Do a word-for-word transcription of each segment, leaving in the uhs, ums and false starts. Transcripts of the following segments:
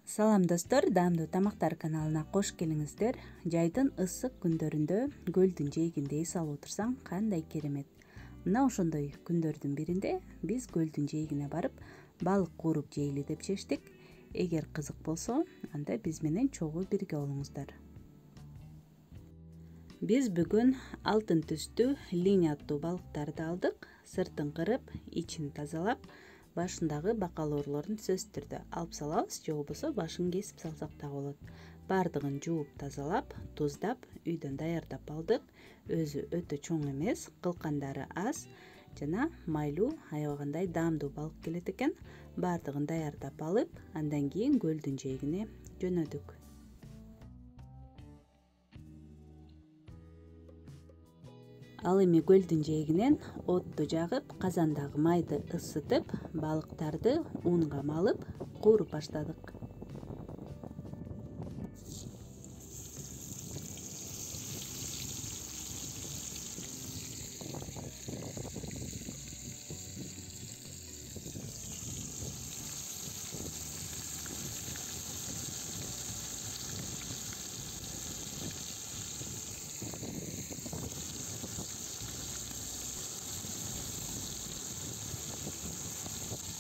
Салам достор, даамдуу тамактар каналына кош келиңиздер. Жайдын ысык күндөрүндө көлдүн жээгинде эс алып отурсаң кандай керемет. Мына ошондой күндөрдүн биринде биз көлдүн жээгине барып балык кууруп жейли деп чечтик. Эгер кызык болсо, анда биз менен чогуу бирге болуңуздар. Биз бүгүн алтын түстүү линь аттуу балыктарды алдык. Сыртын кырып, ичин тазалап, башындагы бакалоорлорун сөзсүз түрдө алып салабыз, же болбосо башын кесип салсак да болот. Бардыгын жууп тазалап, туздап, үйдөн даярдап алдык. Өзү өтө чоң эмес, кылкандары аз жана майлуу, аябагандай даамдуу балык келет экен. Бардыгын даярдап алып, андан кийин көлдүн жээгине жөнөдүк. Ал эми көлдүн жээгинен отту жагып, казандагы майды ысытып, балыктарды унга малып, кууруп баштадык.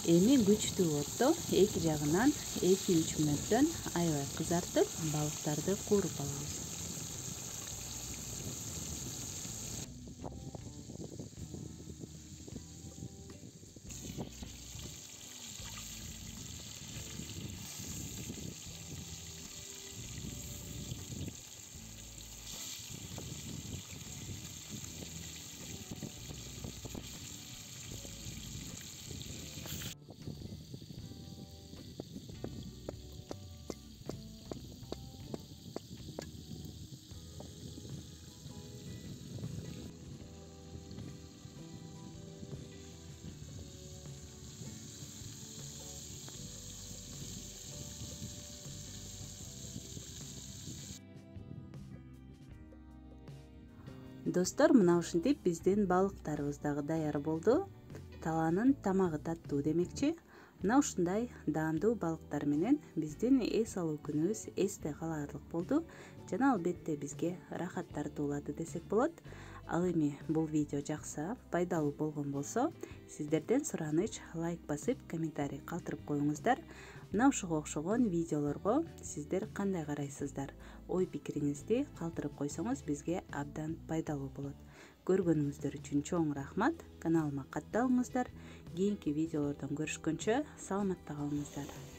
Эми күчтүү отто эки жагынан эки үч мүнөттөн аябай кызартып, балыктарды кууруп алабыз. Достор, мына ушинтип биздин балыктарыбыз дагы даяр болду. Талаанын тамагы таттуу демекчи. Мына ушундай даамдуу балыктар менен биздин эс алуу күнүбүз эсте калаарлык болду жана албетте бизге рахат тартуулады десек болот. Ал эми бул видео жакса, пайдалуу болгон болсо, сиздерден сураныч лайк басып, комментарий калтырып коюңуздар. Мына ушуга окшогон видеолорго сиздер кандай карайсыздар? Ой пикириңизди калтырып койсоңуз бизге абдан пайдалуу болот. Көргөнүңүздөр үчүн чоң рахмат. Каналыма катталыңыздар. Кийинки видеолордон көрүшкөнчө саламатта калыңыздар.